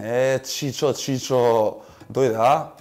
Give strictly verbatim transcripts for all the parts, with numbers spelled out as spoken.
Е, Чичо, Чичо, дојде, а?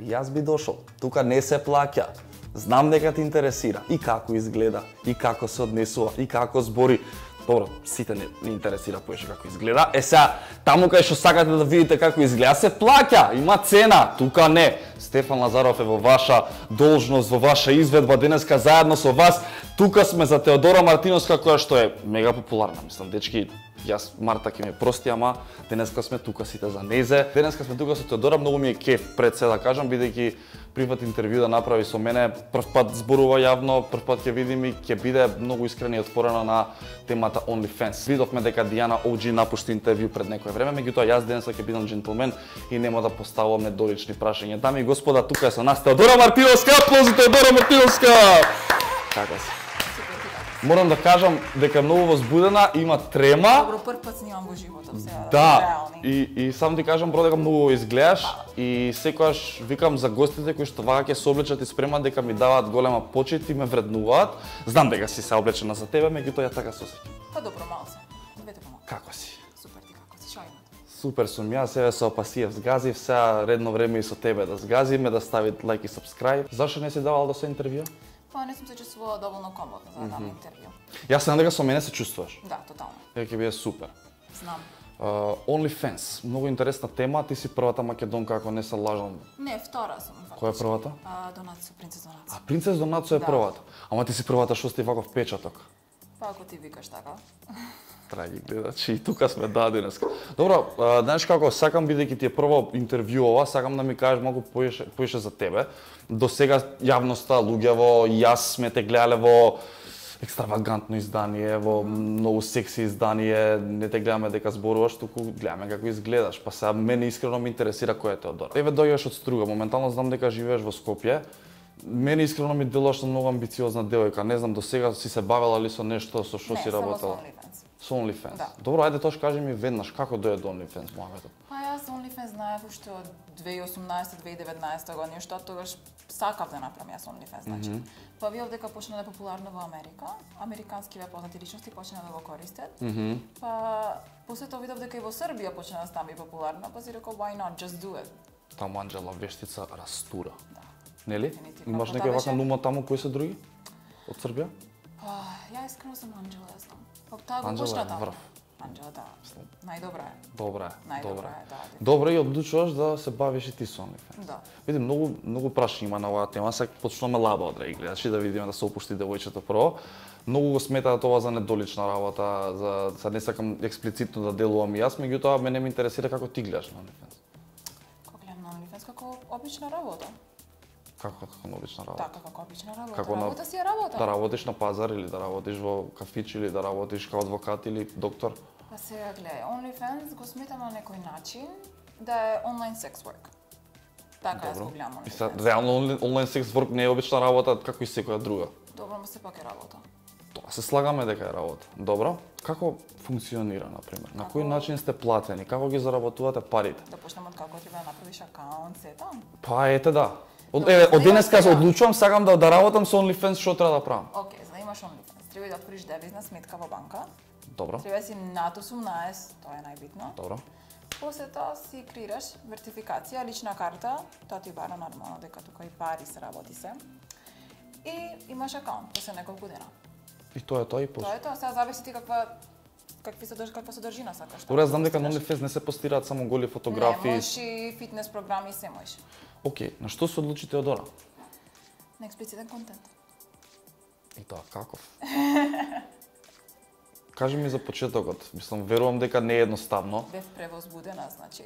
Јас би дошол. Тука не се плаќа. Знам дека те интересира и како изгледа, и како се однесува, и како збори. Добро, сите не, не интересира поише како изгледа. Е сега, таму кај што сакате да видите како изгледа, се плаќа, има цена. Тука не. Стефан Лазаров е во ваша должност, во ваша изведба денеска заедно со вас. Тука сме за Теодора Мартиновска, која што е мега популарна. Мислам, дечки, јас Марта ќе ми прости, ама денеска сме тука сите за незе. Денеска сме тука со Теодора, многу ми е кеф пред се да кажам, бидејќи приват интервју да направи со мене, прв пат зборува јавно, прв пат ќе видим и ќе биде многу искрена и отворена на темата OnlyFans. Видовме дека Дијана О Џи напушти интервју пред некое време, меѓутоа јас денеска ќе бидам джентлмен и нема да поставувам недолични прашања. Дами и господа, тука е со нас Теодора Мартиновска, аплаузи Теодора Мартиновска. Како си? Морам да кажам дека е многу возбудена, има трема. Добро, прв пат снимам во животот, сега да, реални. И, и сам ти кажам, бро, дека многу изгледаш и секогаш викам за гостите кои што вака ќе се облечат и спремат дека ми даваат голема почит и ме вреднуваат. Знам дека си се облечена за тебе, меѓутоа ја така се осеќам. Па добро, малце. Двете помалку. Како си? Супер, ти како си? Шо има? Супер сум јас, себе со Опасиев згазив, сега редно време и со тебе да згазиме, да ставите лайк и сабскрајб. Зашто не си давал да се интервју? Па не сум се чувствувала доволно комфортно за да дам интервју. Јас знам дека со мене се чувствуваш. Да, тотално. Дека ќе биде супер. Знам. Uh, OnlyFans, многу интересна тема, ти си првата македонка, ако не се лажам. Не, втора сум. Која е првата? А, Донацо, принцес Донацо. А Принцес Донацо е Да. првата. Ама ти си првата што сте ваков печаток. Па ако ти викаш така. Драги гледачи, и тука сме да денеска. Добро, а, знаеш како, сакам бидејќи ти е прво интервју ова, сакам да ми кажеш малку поише, поише за тебе. До сега јавноста, луѓево, јас сме те гледале во екстравагантно издание, во многу секси издание, не те гледаме дека зборуваш, туку гледаме како изгледаш. Па сега мене искрено ме интересира кој е Теодора. Еве дојдеш од Струга, моментално знам дека живееш во Скопје. Мене искрено ми делуваш на многу амбициозна девојка. Не знам, до сега си се бавела ли со нешто, со што си работела? Не, само со OnlyFans. Со OnlyFans. Да. Добро, ајде тош кажи ми веднаш како дојде до OnlyFans мојавето. Па јас OnlyFans знаев уште од две илјади и осумнаесета - две илјади и деветнаесета година, што тогаш сакав да направам јас OnlyFans, значи. Mm -hmm. Па видов дека почна да е популарно во Америка, американски ве познати личности почна да го користат. Mm -hmm. Па после тоа видов дека и во Србија почна да стане популарно, па си рекол why not, just do it. Таму Анџела Вештица растура. Да. Нели? Дефинитивно. Имаш Па некој таа вака беше- нума таму кои се други? Од Србија? Па ја искрено сум Анџела, ја знам. Па таа го Анџела почна е таму. врв. Анџела, да. Најдобра е. Добра е, Најдобра добра е, да. е. Добро и одлучуваш да се бавиш и ти со OnlyFans. Да. Види, многу многу прашања има на оваа тема, сега почнуваме лаба од гледачи да видиме да се опушти девојчето прво. Многу го сметаат ова за недолична работа, за sad не сакам експлицитно да делувам и јас, меѓутоа мене ме интересира како ти гледаш на OnlyFans. Како гледам на OnlyFans како обична работа. Како како на обична работа? Така, како обична работа. Како на- работа си е работа. Да работиш на пазар или да работиш во кафич или да работиш као адвокат или доктор? Па сега гледај, OnlyFans го сметам на некој начин да е онлайн секс work. Така јас го гледам И сега, OnlyFans. реално онлайн- онлайн секс ворк не е обична работа како и секоја друга. Добро, ма сепак е работа. Тоа се слагаме дека е работа. Добро. Како функционира, на пример? На кој Како- начин сте платени? Како ги заработувате парите? Да почнеме од како треба да направиш акаунт, сета. Па ете да. Од, еве, од денеска се одлучувам, сакам да да работам со OnlyFans, што треба да правам? Океј, за да имаш OnlyFans, треба да отвориш девизна сметка во банка. Добро. Треба да си над осумнаесет, тоа е најбитно. Добро. После тоа си креираш вертификација, лична карта, тоа ти бара нормално дека тука и пари се работи се. И имаш акаунт после неколку дена. И тоа е тоа и после. Тоа е тоа, сега зависи ти каква какви содрж, каква содржина сакаш. Добро, јас знам дека на OnlyFans не се постираат само голи фотографии. Не, можеш и фитнес програми, се можеш. Океј, на што се одлучи Теодора? На експлицитен контент. И тоа каков? Кажи ми за почетокот. Мислам, верувам дека не е едноставно. Бев превозбудена, значи.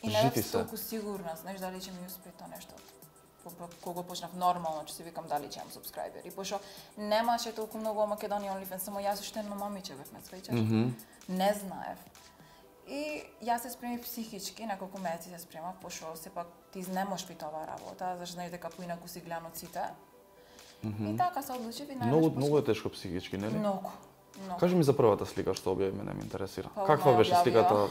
И Жити не бев се. толку сигурна, знаеш дали ќе ми успее тоа нешто. Кога почнав нормално, ќе си викам дали ќе имам субскрајбери. Пошто немаше толку многу во Македонија OnlyFans, само јас уште едно момиче бев, ме сваќаш. Mm -hmm. Не знаев. И јас се спремив психички, неколку месеци се спремав, пошто сепак ти изнемош при оваа работа, зашто знаеш дека поинаку си гледан од сите. Mm -hmm. И така се одлучив и најнаш Многу многу е тешко психички, нели? Многу. Многу. Кажи ми за првата слика што објави, мене ме интересира. Па, Каква одма ја беше објавија. сликата?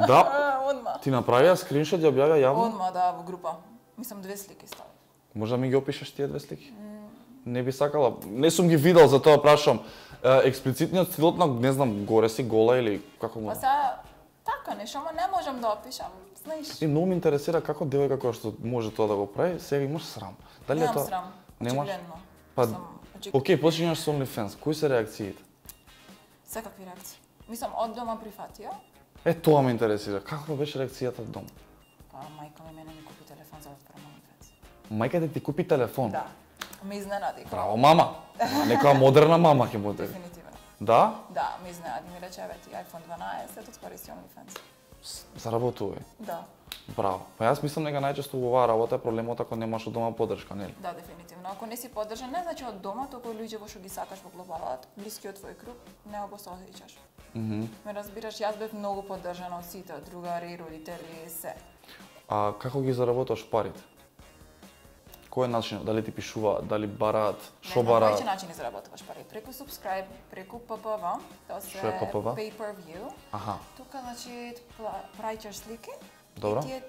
Да, Одма. ти направија скриншот и објавија јавно? Одма, да, во група. Мислам две слики стави. Може да ми ги опишеш тие две слики? Не би сакала. Не сум ги видел, затоа прашам. Е, експлицитниот стилот на, не знам, горе си гола или како му? Па сега, така така нешто, ама не можам да опишам, знаеш. И многу ме интересира како девојка која што може тоа да го прави, сега имаш срам. Дали Немам е тоа? срам, Немаш? очигледно. Па, Сам очиг- окей, почињаш со OnlyFans. Кои се реакциите? Секакви реакции. Мислам, од дома прифатија, Е, тоа ме интересира. Каква беше реакцијата дом? па мајка ми мене ми купи телефон за да отворам OnlyFans. Мајка ти купи телефон. Да. Ме изненади. Браво, мама. Некоја модерна мама ќе буде. Дефинитивно. Да? Да, ме изненади. Ми рече, еве ти iPhone дванаесет, отвори си OnlyFans. С- Заработувај. Да. Браво. Па јас мислам дека најчесто оваа работа е проблемот ако немаш од дома поддршка, нели? Да, дефинитивно. Ако не си поддржан, не значи од дома, туку луѓе во што ги сакаш во глобалот, блискиот твој круг, не го се осеќаш. Мгм. Ме разбираш, јас бев многу поддржана од сите, од другари, родители, се. А како ги заработаш парите? Кој е начинот? Дали ти пишуваат, дали бараат, што Не знам бараат? кои начини заработуваш пари. Преку subscribe, преку П П В, тоа се Што е П П В? pay per view. Аха. Тука значи пла- праќаш слики. Добро. И тие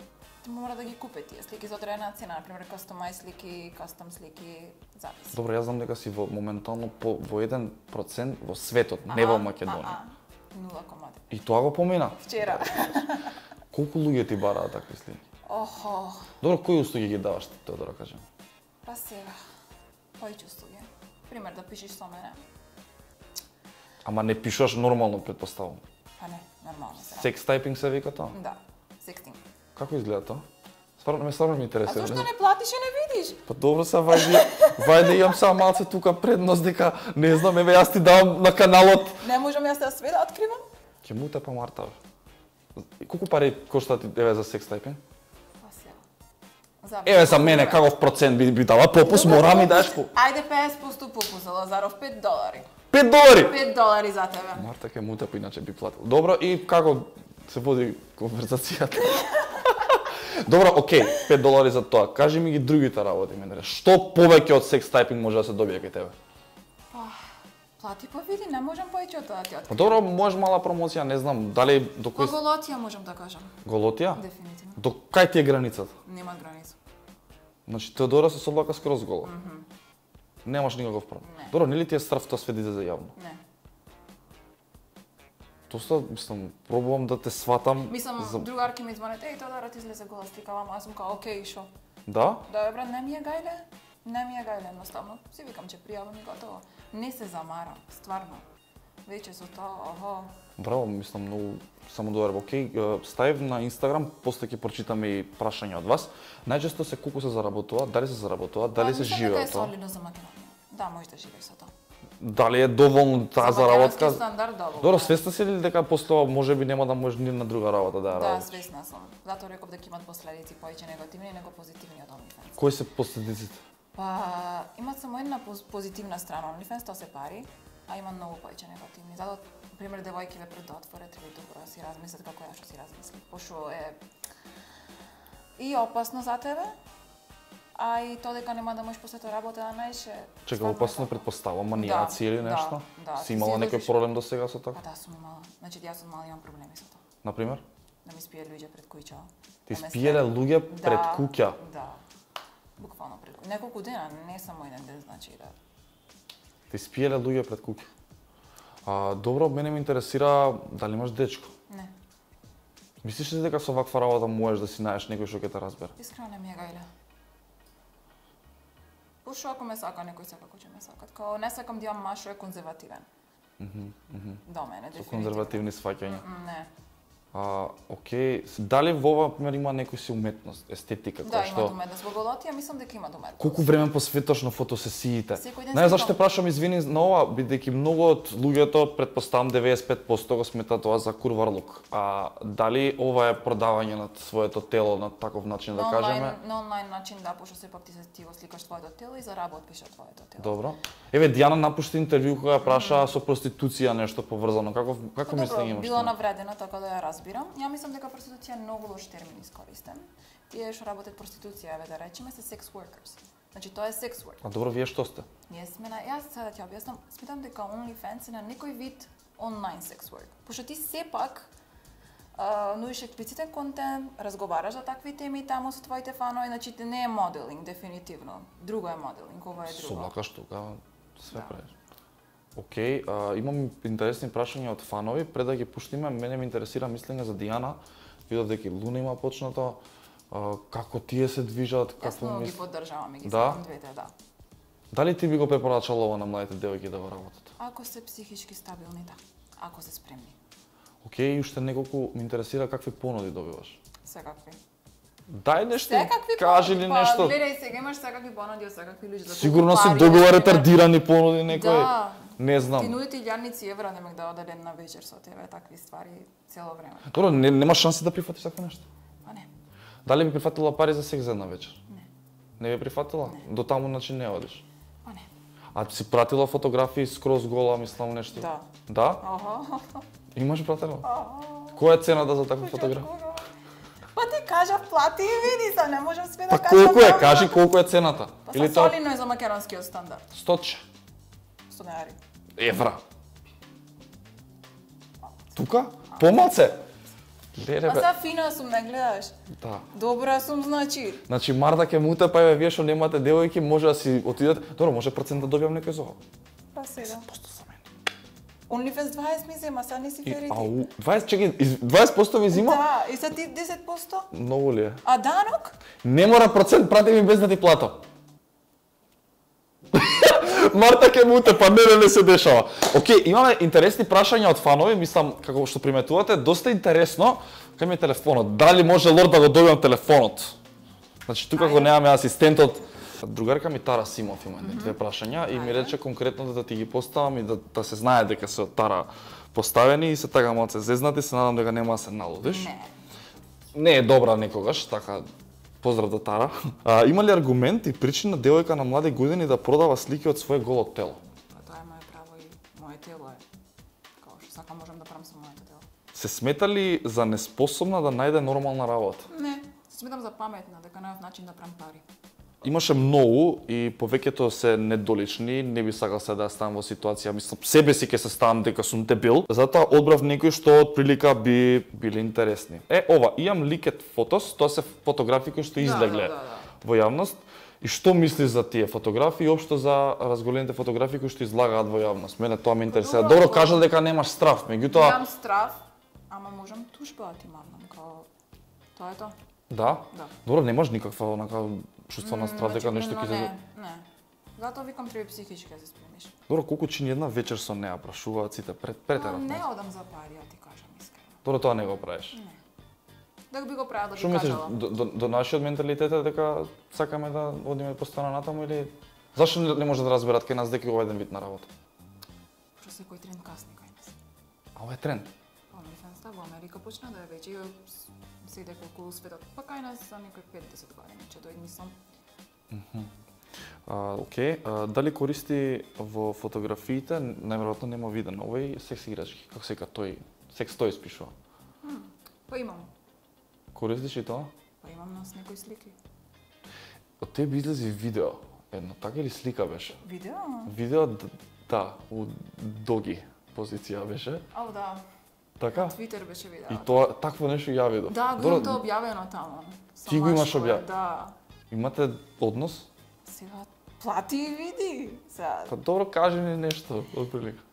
ти мора да ги купи тие слики за одредена цена, на пример customized слики, custom слики, записи. Добро, јас знам дека си во моментално по, во еден процент во светот, не во Македонија. нула кома девет. И тоа го помина. Вчера. Колку луѓе ти бараат такви слики? Охо, Добро, кои услуги ги даваш ти, тоа да кажем? па сега. Повеќе услуги. Пример да пишеш со мене. Ама не пишуваш нормално, претпоставам. Па не, нормално се. Секс тайпинг се вика тоа? Да, sexting. Како изгледа тоа? Стварно ме стварно ме А интересира. зошто не платиш и не видиш? Па добро се вајде, вајде имам само малце тука предност дека не знам, еве јас ти давам на каналот. Не можам јас да све да откривам? Ќе му те па Марта. Колку пари кошта ти еве за секс тайпинг? Па сега. За Еве за мене каков процент би би дала попус, мора ми даш по Ајде петдесет проценти попус за Лазаров, пет долари. пет долари. пет долари за тебе. Марта ќе му те па иначе би платил. Добро, и како се води конверзацијата? Добро, окей, пет долари за тоа. Кажи ми ги другите работи, мене. Што повеќе од секс тайпинг може да се добие кај тебе? Плати па види, не можам повеќе од тоа да ти Па откривам. добро, може мала промоција, не знам, дали до По кој голотија можам да кажам. голотија? Дефинитивно. До кај ти е границата? Нема граница. Значи Теодора се соблака скроз гола. Немаш никаков проблем. Не. Добро, нели ти е страв тоа све да иде за јавно? Не. Доста, мислам, пробувам да те сватам. Мислам, за... другарки ми звонат, еј, тоа да ти излезе гола слика, ама јас сум као, окей, шо? Да? Да, брат, не ми е гајле, не ми е гајле, едноставно. Си викам, че пријавам и готово. Не се замарам, стварно. Веќе со тоа, охо. Браво, мислам, многу само добар. Океј, е, ставив на Инстаграм, после ќе прочитаме и прашања од вас. Најчесто се колку се заработува, дали се заработува, дали се живее од тоа? Мислам дека е солидно за Македонија. Да, можеш да живееш со тоа. Дали е доволно таа За заработка? македонски стандард, да. Добро, свесна си ли дека после тоа можеби нема да можеш ни на друга работа да ја Да, работиш? свесна сум. Затоа реков дека имат последици повеќе негативни него позитивни од OnlyFans. Кои се последиците? Па, имат само една поз- позитивна страна OnlyFans, тоа се пари, а има многу повеќе негативни. Затоа, пример, девојки ве пред да отворат, треба добро да си размислат како ја што си размисли. Пошто е и опасно за тебе, а и тоа дека нема да можеш после тоа работа да најше. Чека, опасно предпоставам, манијаци или да, нешто? да, Си ти имала си некој излазиш- проблем до сега со тоа? Па да, сум имала. Значи, јас од мала имам проблеми со тоа. Например? Да ми спијат луѓе пред куќа. Ти да ме спиеле стерат. луѓе пред Да, куќа? Да. Буквално пред куќа. Неколку дена, не само еден ден, значи да. Ти спиеле луѓе пред куќа? А, добро, мене ме интересира дали имаш дечко. Не. Мислиш ли дека со ваква работа можеш да си најдеш некој што ќе те разбере? Искрено не ми е гајле. Пошто ако ме сака, некој секако ќе ме сакат. Као не сакам да имам маж што е конзервативен. До мене, Со дефинитивно. конзервативни сваќања. М, Не. А, окей, с- дали во ова пример има некој си уметност, естетика, Да, која има што уметност. Во голотија мислам дека има уметност. колку време посветаш на фотосесиите? Секој ден Не, зашто те сликам. прашам, извини на ова, бидејќи многу од луѓето, претпоставам деветдесет и пет проценти го смета тоа за курварлук. А дали ова е продавање на своето тело на таков начин да На кажеме? онлайн, на онлайн начин да, пошто сепак ти се ти го сликаш твоето тело и заработиш од твоето тело. Добро. Еве Дијана напушти интервју кога ја праша со проституција нешто поврзано. Како како Па мислење добро, имаш? била тоа? навредена, така да ја разбирам. Ја мислам дека проституција е многу лош термин искористен. Тие што работат проституција, еве да речеме, се sex workers. Значи тоа е sex work. А добро, вие што сте? Ние сме на, јас сега да ти објаснам, сметам дека OnlyFans е на некој вид онлайн sex work. Пошто ти сепак а, нудиш експлицитен контент, разговараш за такви теми таму со твоите фанови, значи не е моделинг дефинитивно. Друго е моделинг, ова е друго. Соблакаш тука, све Да. правиш. Океј, а, имам интересни прашања од фанови, пред да ги пуштиме, мене ме интересира мислење за Дијана. Видов дека и Луна има почнато, а, како тие се движат, Јас како многу ги мис... поддржавам и ги Да? сакам двете, да. Дали ти би го препорачала ова на младите девојки да го работат? Ако се психички стабилни, да. Ако се спремни. Океј, уште неколку ме интересира какви понуди добиваш. Секакви. Дај нешто, Секакви кажи понуди, ли па, нешто? Гледај сега, имаш секакви понуди од секакви луѓе. За Сигурно колку се пари, добива например. ретардирани понуди некој. Да. Не Ти знам. нуди ти илјадници евра, немек да оде една вечер со тебе, такви ствари цело време. Добро, не, нема шанси да прифатиш такво нешто. Па не. Дали би прифатила пари за секс за една вечер? Не. Не би прифатила? Не. До таму значи не одиш. Па не. А си пратила фотографии скроз гола, мислам нешто? Да. Да? Ага. Имаш пратено? Ага. Која е цената за таква фотографија? Па ти кажав плати и види се, не можам све да Па кажам. колку е? само. Кажи колку е цената. Па Или са тоа солидно е за македонскиот стандард. стотче сто денари. евра. Тука? Помалце? Леле Па бе. са фина сум, не гледаш. Да. Добра сум, значи. Значи Марда ќе му утепа, еве вие што немате девојки, може да си отидете. Добро, може процент да добијам некој за ова. Па сега. Посто за мене. OnlyFans дваесет ми зема, сега не си И, ферити. ау, дваесет, чекай, из- дваесет проценти ви зима? Да, и са ти десет проценти? Многу ли е? А данок? Не мора процент, прати ми без да ти платам. Марта ќе му утепа, не, не, не се дешава. Океј, имаме интересни прашања од фанови, мислам, како што приметувате, доста интересно. Кај ми е телефонот? Дали може Лорд да го добиам телефонот? Значи, тука го немаме асистентот. Другарка ми Тара Симов има едни две прашања и ми рече конкретно да ти ги поставам и да, да се знае дека се од Тара поставени и се така малце зезнати, се надам дека нема да се налудиш. Не. Не е добра некогаш, така поздрав до Тара. А, има ли аргумент и причина девојка на млади години да продава слики од свое голо тело? Па тоа е мое право и мое тело е. Као што сакам можам да правам со моето тело. Се смета ли за неспособна да најде нормална работа? Не, се сметам за паметна, дека најав начин да правам пари. Имаше многу и повеќето се недолични, не би сакал се да ставам во ситуација, мислам, себе си ќе се ставам дека сум дебил, затоа одбрав некои што од прилика би били интересни. Е, ова, имам ликет фотос, тоа се фотографии кои што излегле да, да, да. во јавност. И што мислиш за тие фотографии и општо за разголените фотографии кои што излагаат во јавност? Мене тоа ме интересира. Добро, Добро, тоа- кажа дека немаш страф, меѓутоа, Имам страв, ама можам тужба да ти мавнам, као тоа е тоа. да? Да. Добро, немаш никаква онака чувство на страв дека Значи, нешто ќе не, се... не. Затоа викам треба психички да се спремиш. Добро, колку чини една вечер со неа, прашуваат сите пред Ама претерав. не одам за пари, ја ти кажам искрено. Добро, тоа не го правиш. Не. Дека би го правил да Што би мислиш, кажала. до, до, до нашиот менталитет е дека сакаме да одиме постојано натаму или зашто не, не може да разберат кај нас дека е ова еден вид на работа? Што секој тренд касни кај нас. А ова е тренд. OnlyFans во Америка почна да е веќе и се иде колку светот. Па кај нас за некои пет-десет години ќе дојде мислам. А, окей, а, дали користи во фотографиите, најверојатно нема виден овој секс играчки, како се вика тој, секс тој спишува. Па имам. Користиш и тоа? Па имам нас некои слики. Од тебе излезе видео, едно, така или слика беше? Видео? Видео, д- да, у доги позиција беше, Ау да. така? Твитер беше видео. И тоа, такво нешто ја видов. Да, го Добро, имам тоа објавено таму. Ти го имаш Самашко е, објавено? Да. Имате однос? Сега плати и види. Сега. Па добро, кажи ми нешто, отприлика.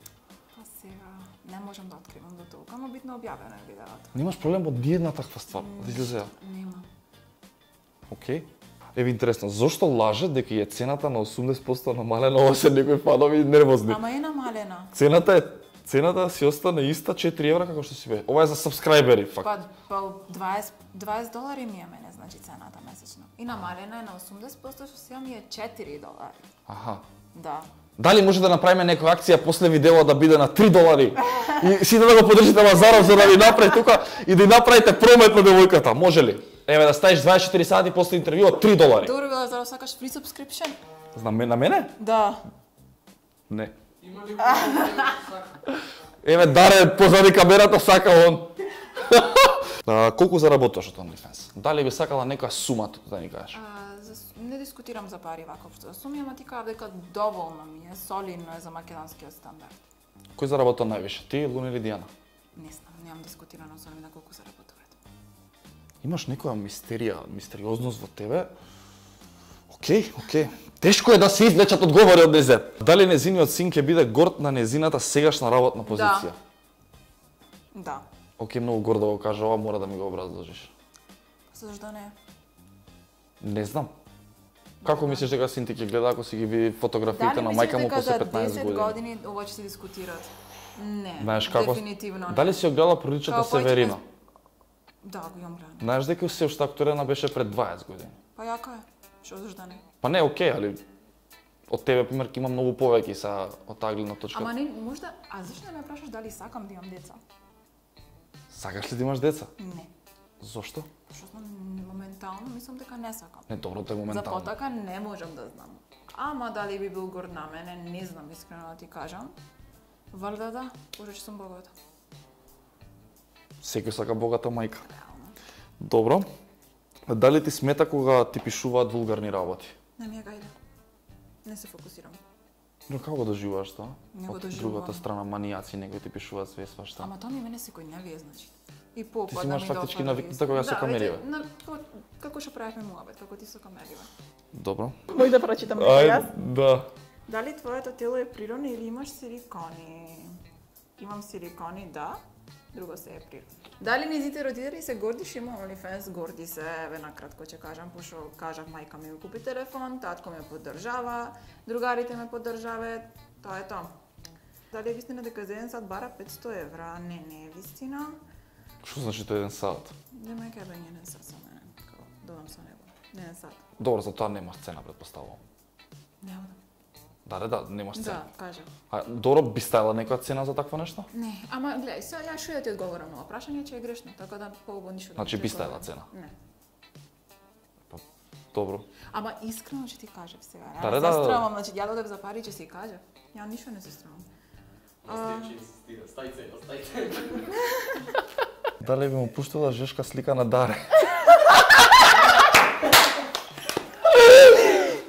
Па сега не можам да откривам до толку, ама битно објавено е видеото. Немаш проблем од ниедна таква ствар, да излезе. Нема. Океј. Еве интересно, зошто лаже дека е цената на осумдесет проценти намалена, ова се некои фанови нервозни. Ама е намалена. Цената е цената си остана иста четири евра како што си бе. Ова е за сабскрајбери, факт. Па, па дваесет, дваесет долари ми е мене, значи цената месечно. И намалена е на осумдесет проценти, што сега ми е четири долари. Аха. Да. Дали може да направиме некоја акција после видео да биде на три долари? И сите да го поддржите Лазаров за да ви направи тука и да направите промет на девојката, може ли? Еве да ставиш дваесет и четири сати после интервјуот три долари. Добро било за да сакаш free subscription? Знам на мене? Да. Не. Еве Даре позади камерата сака он. А, колку заработуваш од OnlyFans? Дали би сакала нека сума да ни кажеш? А, за, не дискутирам за пари вака општо. Суми, ама ти кажав дека доволно ми е, солидно е за македонскиот стандард. Кој заработува највише? Ти, Луна или Дијана? Не знам, немам дискутирано со нив на колку заработуваат. Имаш некоја мистерија, мистериозност во тебе? Океј, Океј, океј. Тешко е да се извлечат одговори од незе. Дали незиниот син ќе биде горд на незината сегашна работна позиција? Да. Океј, многу гордо го кажа, ова мора да ми го образложиш. Зашто не? Не знам. Како мислиш дека син ти ќе гледа ако си ги види фотографиите на мајка му после петнаесет години? Дали години ова ќе се дискутираат? Не, Знаеш како? дефинитивно не. Дали си ја гледала приличата Северина? Да, го имам гледано. Знаеш дека се уште акторена беше пред дваесет години? Па јака е. Што зашто не? Па не, окей, али од тебе пример има многу повеќе са од таа гледна точка. Ама не, можда, а зашто не ме прашаш дали сакам да имам деца? Сакаш ли да имаш деца? Не. Зошто? Зашто моментално мислам дека не сакам. Не, добро, тоа е За моментално. потака не можам да знам. Ама дали би бил горд на мене, не знам искрено да ти кажам. Валда да, пошто че сум богата. Секој сака богата мајка. Реално. Добро. Дали ти смета кога ти пишуваат вулгарни работи? Не ми е гајде. Не се фокусирам. Но како го доживуваш тоа? Не го Од доживувам. другата страна манијаци некои ти пишуваат све свашта. Ама тоа ми мене секој не вие, значи. И по Ти си имаш фактички навикнута кога се камериве. На, како што правевме муабет, како ти со камериве. Добро. Мој да прочитам Ај, да. Дали твоето тело е природно или имаш силикони? Имам силикони, да. Друго се е природно. Дали низите родители се горди што има OnlyFans? Горди се, еве накратко ќе кажам, пошто кажав мајка ми го купи телефон, татко ме поддржава, другарите ме поддржаваат, тоа е тоа. Дали е вистина дека за еден сат бара петсто евра? Не, не е вистина. Што значи тоа еден сат? Нема ке бе еден сат со мене, како додам со него. Не еден сат. Добро, за тоа нема цена, предпоставувам. Нема да. Да, да, да, немаш цена. Да, кажа. А добро, би ставила некоја цена за такво нешто? Не, ама гледај, сега ја што ја ти одговорам на ова прашање, че е грешно, така да поубаво ништо да. Значи не би ти ставила одговорам. цена? Не. Добро. Ама искрено ќе ти кажав сега. Да, Да, да, се да. стравам, значи ја додев за пари ќе си кажав. Ја ништо не се стравам. Стај цена, стај цена. Дали би му пуштила жешка слика на Даре?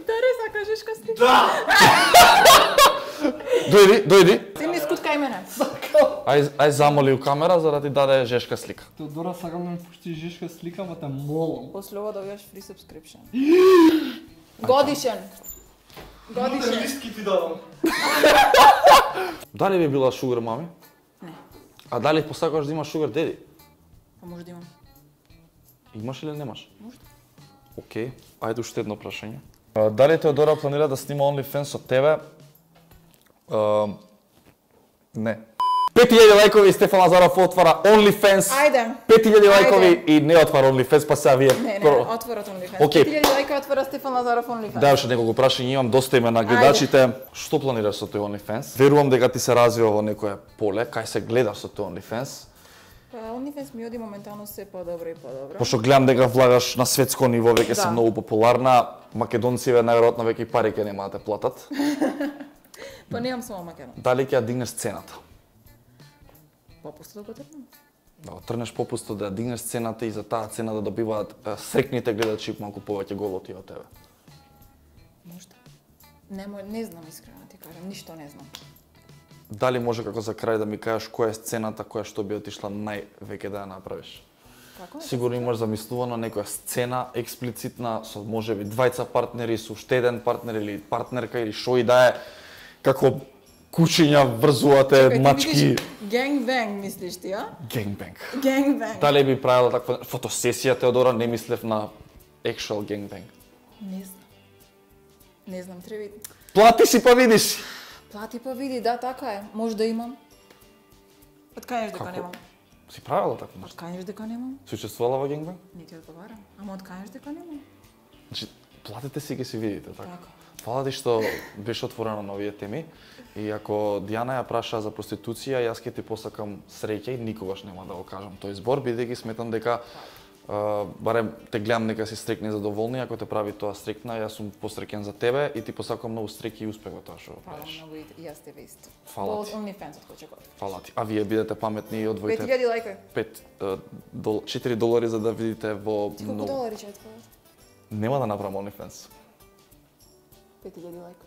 Даре, сакаш ка слика? Да! Дојди, дојди. Ти ми скуткај мене. Ај, ај замоли у камера за да ти даде жешка слика. Теодора, сакам да ми пуштиш жешка слика, ма те молам. После ова добиваш free subscription. Годишен. Годишен. Лиски ти давам. Дали би била шугар мами? Не. А дали посакаш да имаш шугар деди? Па може да имам. Имаш или немаш? Може. Океј, ајде уште едно прашање. А, дали Теодора планира да снима OnlyFans со тебе? А, не. пет илјади лајкови и Стефан Лазаров отвара OnlyFans. Ајде. пет илјади Ајде. лајкови и не отвара OnlyFans, па сега вие... Не, не, прво- отворот OnlyFans. Океј. пет илјади лајка отвора Стефан Лазаров OnlyFans. Да, уште неколку прашања имам, доста име на гледачите. Што планираш со тој OnlyFans? Верувам дека ти се развива во некое поле, кај се гледаш со тој OnlyFans. Па OnlyFans ми оди моментално се подобро и подобро. Пошто гледам дека влагаш на светско ниво, веќе Да. си многу популарна. Македонциве најверојатно веќе и пари ќе нема да те платат. Па немам само Македон. Дали ќе ја дигнеш цената? Попустот го тргнам. Да го трнеш попусто, да ја дигнеш цената и за таа цена да добиваат е, срекните гледачи малку повеќе голоти од тебе. Можда. Не, мо- не знам искрено да ти кажам, ништо не знам. Дали може како за крај да ми кажеш која е сцената која што би отишла највеќе да ја направиш? Како е? Сигурно имаш замислувано некоја сцена експлицитна со можеби двајца партнери, со уште еден партнер или партнерка или шо и да е, како кучиња врзувате мачки, Генг-бенг мислиш ти, а? генгбенг. Генг-бенг. Дали би правила таква фотосесија, Теодора, не мислев на actual генгбенг. Не знам. Не знам, треба и- Плати си па видиш. Плати па види, да, така е. Може да имам. Откајаш дека Како? немам? Си правила такво нешто? Откајаш дека немам? Си учествувала во генгбенг? Не ти одговарам. Ама откајаш дека немам? Значи, платите си ги си видите, така. Така. Фала ти што беше отворена на овие теми и ако Дијана ја праша за проституција, јас ќе ти посакам среќа и никогаш нема да го кажам тој збор, бидејќи сметам дека а, барем те гледам нека си стрекна и задоволни, ако те прави тоа стрекна, јас сум посреќен за тебе и ти посакам многу среќа и успех во тоа што го Фала правиш. многу и и јас тебе исто. Фала Во ти. OnlyFans-от кој ќе го. Фала ти. А вие бидете паметни и пет одвоите илјади лајка. пет дол, четири долари за да видите во Ти колку многу. долари ќе отвориш? Нема да направам OnlyFans. пет илјади лајка.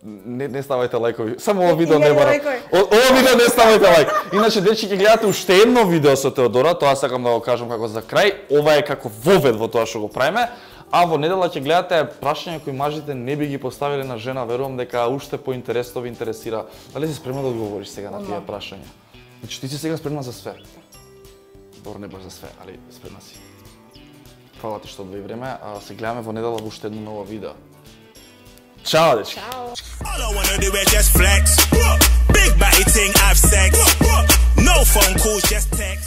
Не, не ставајте лајкови. Само ова Пет видео не илјади бара. лајкови. О- Ова видео не ставајте лајк. Иначе дечки ќе гледате уште едно видео со Теодора, тоа сакам да го кажам како за крај. Ова е како вовед во тоа што го правиме. А во недела ќе гледате прашања кои мажите не би ги поставиле на жена, верувам дека уште поинтересно ви интересира. Дали си спремна да одговориш сега на тие прашања? Значи ти си сега спремна за све. Добро, не баш за све, али спремна си. Фала ти што одвои време, а се гледаме во недела во уште едно ново видео. Чао, дечки! All I wanna do is just flex. Big body thing, have sex. No phone calls, just text.